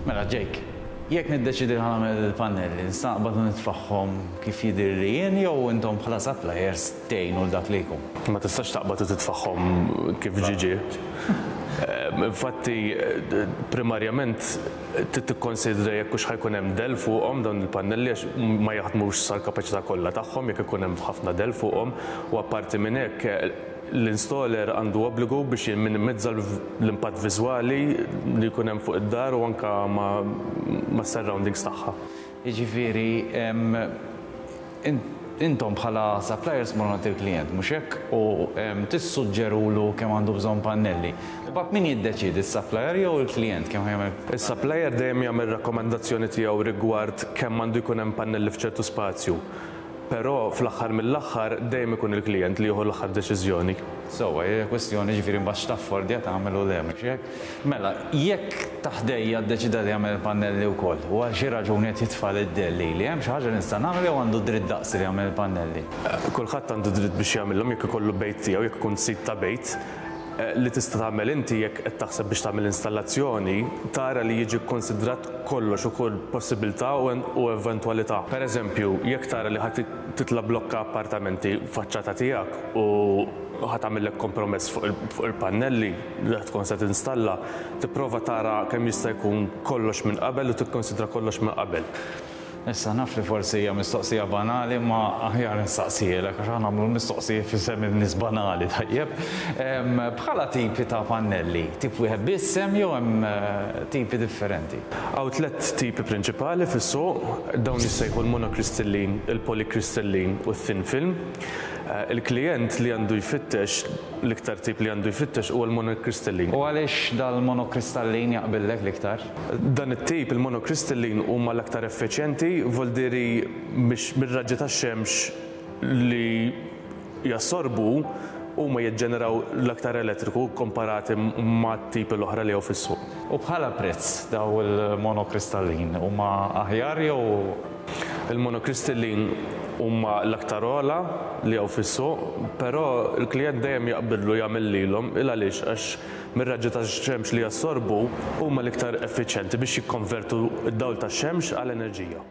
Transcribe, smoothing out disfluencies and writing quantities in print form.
Mela Jake, jekk niddeċiedi li ħa nagħmel il-pannelli, nista' naqbad u nitfagħhom kif jidhirli jien jew intom bħala suppliers tgħinu 'l dak li jkun? Ma tistax taqbad u titfagħhom kif ġie ġie. Infatti, primarjament trid tikkonsidra jekk hux ħa jkun hemm dell fuqhom dawn il-pannelli għax ma jaħdmux sal-kapaċità kollha tagħhom jekk ikun hemm ħafna dell fuqhom u apparti minn hekk l-installer għandu obbligu biex jimminimizza l-impatt viżwali li jkun hemm fuq id-dar u anke mas-surroundings tagħha. Jiġifieri intom bħala suppliers tmorru għand il-klijent, mhux hekk? U tissuġġerulu kemm għandu bżonn pannelli. Imbagħad min jiddeċiedi, is-supplier jew il-klijent kemm ħa jagħmel? Is-supplier dejjem jagħmel rakkomandazzjoni tiegħu rigward kemm għandu jkun hemm pannelli f'ċertu spazju. Però fl-aħħar mill-aħħar dejjem ikun il-klijent li jieħu l-aħħar deċiżjoni. Sewwa, hija kwestjoni jiġifieri mbagħad x'taffordja tagħmel u le, mhux hekk? Mela, jekk ta' ħdejja ddeċieda li jagħmel il-pannelli wkoll u għal xi raġuni qed jitfa' d-dell lili, hemm xi ħaġa li nista' nagħmel jew għandu dritt daqsi li jagħmel il-pannelli? Kulħadd għandu dritt biex jagħmilhom jekk ikollu bejt tiegħu, jekk ikun sid ta' bejt. Li tista' tagħmel inti jekk qed taħseb biex tagħmel installazzjoni, tara li jiġi kkonsidrat kollox u kull possibilità u eventwalità. Per eżempju, jekk tara li ħa titla' blokka appartamenti faċċata tiegħek u ħa tagħmillek kompromess fuq il-pannelli li ħa tkun se tinstalla, tipprova tara kemm jista' jkun kollox minn qabel u tikkonsidra kollox minn qabel. Issa naf li forsi hija mistoqsija banali imma aħjar nistaqsihielek għax aħna nagħmlu l-mistoqsijiet f'isem in-nies banali, tajjeb? Bħala tipi ta' pannelli, tip wieħed biss hemm jew hemm tipi differenti? Hawn tlett tipi prinċipali fis-suq, dawn jissejħu l-monokristallin, il-polykristallin u t-thin film. Il-klijent li għandu jfittex, l-iktar tip li għandu jfittex huwa l-monokristallin. U għaliex dal-monokristallin jaqbillek l-iktar? Dan it-tip, il-monokristallin, huma l-aktar effiċjenti, voldieri biex mir-raġġi tax-xemx li jassorbu huma jiġġeneraw l-aktar elettriku komparati mat-tipi l-oħra li hawn fis-suq. U bħala prezz daw il-monokristallin huma aħjar jew? Il-monokristallin huma l-aktar ogħla li hawn fis-suq, però l-klijent dejjem jaqbillu jagħmel lilhom, il għaliex? Għax mir-raġġi tax-xemx li jassorbu huma l-iktar effiċjenti biex jikkonvertu d-dawl tax-xemx għal enerġija.